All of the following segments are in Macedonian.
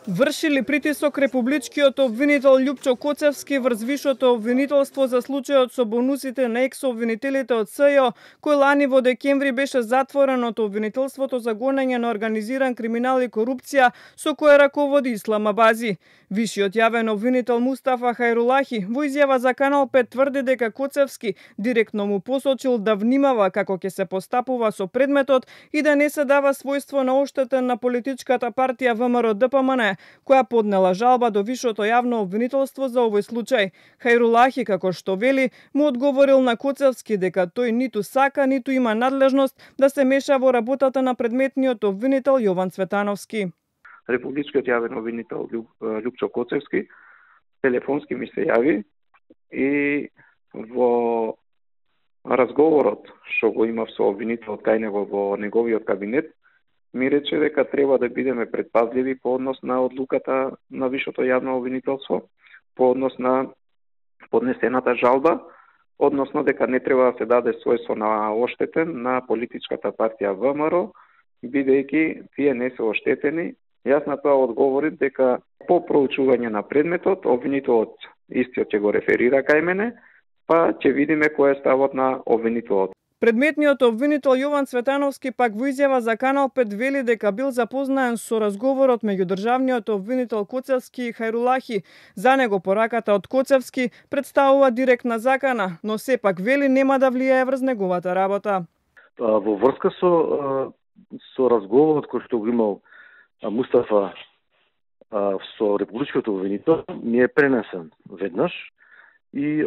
Вршили притисок републичкиот обвинител Љупчо Коцевски врз вишото обвинителство за случајот со бонусите на екс-обвинителите од СЈО, кој лани во декември беше затворен од обвинителството за гонење на организиран криминал и корупција со кое раководи Ислам Абази. Вишиот јавен обвинител Мустафа Хајрулахи во изјава за Канал 5 тврди дека Коцевски директно му посочил да внимава како ќе се постапува со предметот и да не се дава својство на оштетен на политичката партија ВМРО-ДПМН, која поднела жалба до вишото јавно обвинителство за овој случај. Хајрулахи, како што вели, му одговорил на Коцевски дека тој ниту сака, ниту има надлежност да се меша во работата на предметниот обвинител Јован Цветановски. Републичкиот јавен обвинител Љупчо Коцевски телефонски ми се јави и во разговорот што го имав со обвинителот кај него во неговиот кабинет ми рече дека треба да бидеме предпазливи по однос на одлуката на вишото јавно обвинителство, по однос на поднесената жалба, односно дека не треба да се даде својство на оштетен на политичката партија ВМРО, бидејќи тие не се оштетени. Јас на тоа одговорив дека по проучување на предметот, обвинителот истиот ќе го реферира кај мене, па ќе видиме кој е ставот на обвинителот. Предметниот обвинител Јован Цветановски пак во изјава за Канал 5 вели дека бил запознаен со разговорот меѓу државниот обвинител Коцевски и Хајрулахи. За него пораката од Коцевски представува директна закана, но сепак вели нема да влијае врз неговата работа. Во врска со разговорот кој што го имал Мустафа со републичкиот обвинител ми е пренесен веднаш и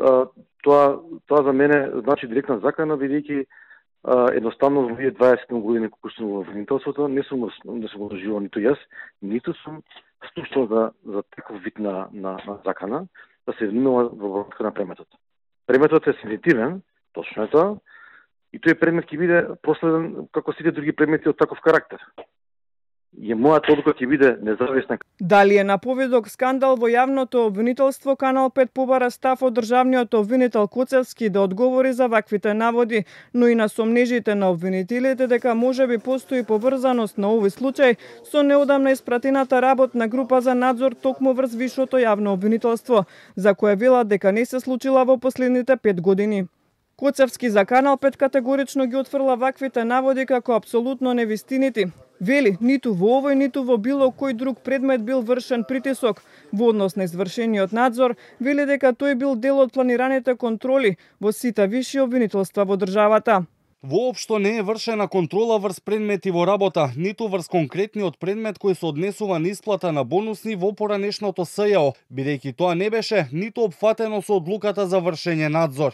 тоа за мене значи директна закана, бидејќи едноставно во 20 години колку сум во обвинителството не сум го доживал ниту јас, ниту сум слушнал за таков вид на закана да се внимава во врска на предметот. Предметот е сензитивен, точно е тоа, и тој предмет ќе биде проследен како сите други предмети од таков карактер. И мојата одлука ќе биде независна. Дали е на поведок скандал во јавното обвинителство, Канал 5 побара став од државниот обвинител Коцевски да одговори за ваквите наводи, но и на сомнежите на обвинителите дека можеби постои поврзаност на овој случај со неодамна испратената работна група за надзор токму врз вишото јавно обвинителство, за кое велат дека не се случила во последните 5 години. Коцевски за Канал 5 категорично ги отфрла ваквите наводи како апсолутно невистинити. Вели, ниту во овој, ниту во било кој друг предмет бил вршен притисок. Во однос на извршениот надзор, вели дека тој бил дел од планираните контроли во сите виши обвинителства во државата. Воопшто не е вршена контрола врз предмети во работа, ниту врз конкретниот предмет кој се однесува на исплата на бонусни во поранешното СЈО, бидејќи тоа не беше ниту опфатено со одлуката за вршење надзор.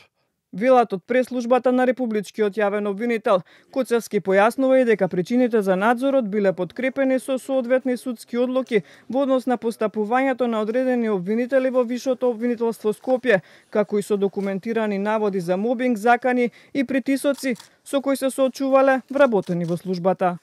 Велат од преслужбата на републичкиот јавен обвинител. Коцевски појаснува и дека причините за надзорот биле подкрепени со соодветни судски одлуки во однос на постапувањето на одредени обвинители во вишото обвинителство Скопје, како и со документирани наводи за мобинг, закани и притисоци со кои се соочувале вработени во службата.